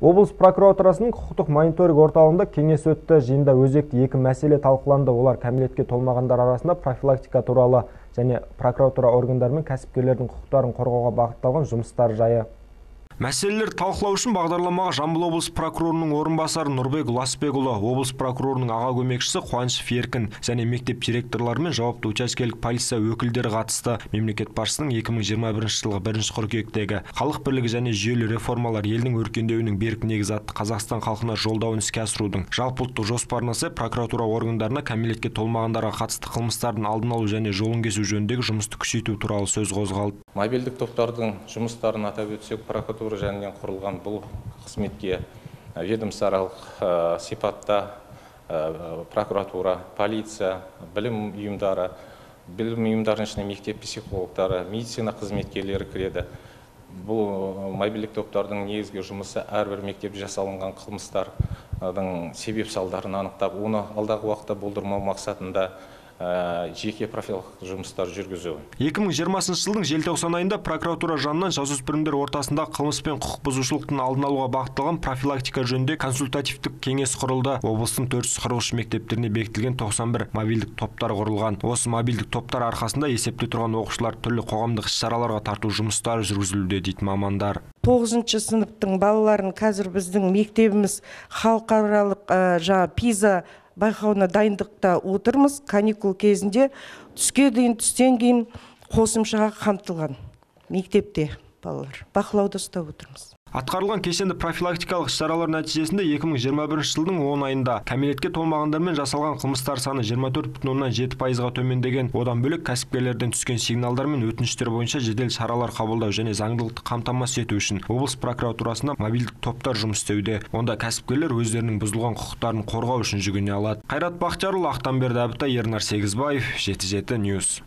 Облыс прокуратурасының құқықтық мониторинг орталығында кеңес өтті. Жиында өзекті екі мәселе талқыланды. Олар кәмелетке толмағандар арасында профилактика туралы және прокуратура органдары мен кәсіпкерлердің құқықтарын қорғауға бағытталған жұмыстар жайы. Мәселелерді талқылау үшін бағдарламаға Жамбыл облыс прокурорының орынбасары Нұрбек Ласбекұлы, облыс прокурорының аға көмекшісі Қуанышев Еркін және мектеп директорлары мен жауапты учаскелік полиция өкілдері қатысты. Мемлекет басшысының 2021 жылғы 1 қыркүйектегі халық бірлігі және жүйелі реформалар елдің өркендеуінің берік негізі атты Қазақстан халқына жолдауын іске асырудың жалпыұлттық жоспарына сай прокуратура органдарына кәмелетке толмағандарға қатысты қылмыстардың алдын алу және жолын кесу жөніндегі жұмысты күшейту туралы сөз қозғалды. Мобильдік топтардың жұмыстарын атап өтсек, прокуратура жанынан құрылған бұл қызметке ведомствоаралық сипатта прокуратура, полиция, білім ұйымдарының ішінде мектеп психологтары, медицина қызметкерлері кіреді. Бұл мобильдік топтардың негізгі жұмысы әрбір мектепте жасалынған қылмыстардың себеп салдарын анықтап, оны алдағы уақытта болдырмау мақсатында жеке профилактикалық жұмыстар жүргізу. 2020 жылдың желтоқсан айында прокуратура жанынан жасөспірімдер ортасында қылмыс пен құқық бұзушылықтың алдын алуға бағытталған профилактика жөнінде консультативтік кеңес құрылды. Облыстың 443 мектептеріне бекітілген 91 мобильдік топтар құрылған. Осы мобильдік топтар арқасында есепте тұрған оқушылар түрлі қоғамдық іс-шараларға тарту жұмыстары жүргізілуде дейді мамандар. 9-шы сыныптың балаларын қазір біздің мектебіміз халықаралық PISA байқауына дайындықта отырмыз. Каникул кезінде түстен кейін қосымшаға қамтылған мектепте балалар. Бақылауда ұстап отырмыз. Атқарылған кешенді профилактикалық іс-шаралар нәтижесінде 2021 жылдың 10 айында кәмелетке толмағандармен жасалған қылмыстар саны 24,7%-ға төмендеген. Одан бөлек кәсіпкерлерден түскен сигналдар мен өтініштер бойынша жедел шаралар қабылдау және заңдылықты қамтамасыз ету үшін облыс прокуратурасында мобильдік топтар жұмыс істеуде. Онда кәсіпкерлер өздерінің бұзылған құқықтарын қорғау үшін жүгіне алады. Қайрат Бақтиярұлы, Ақтамберді Әбітай, Ернар Сегізбаев, 77 News.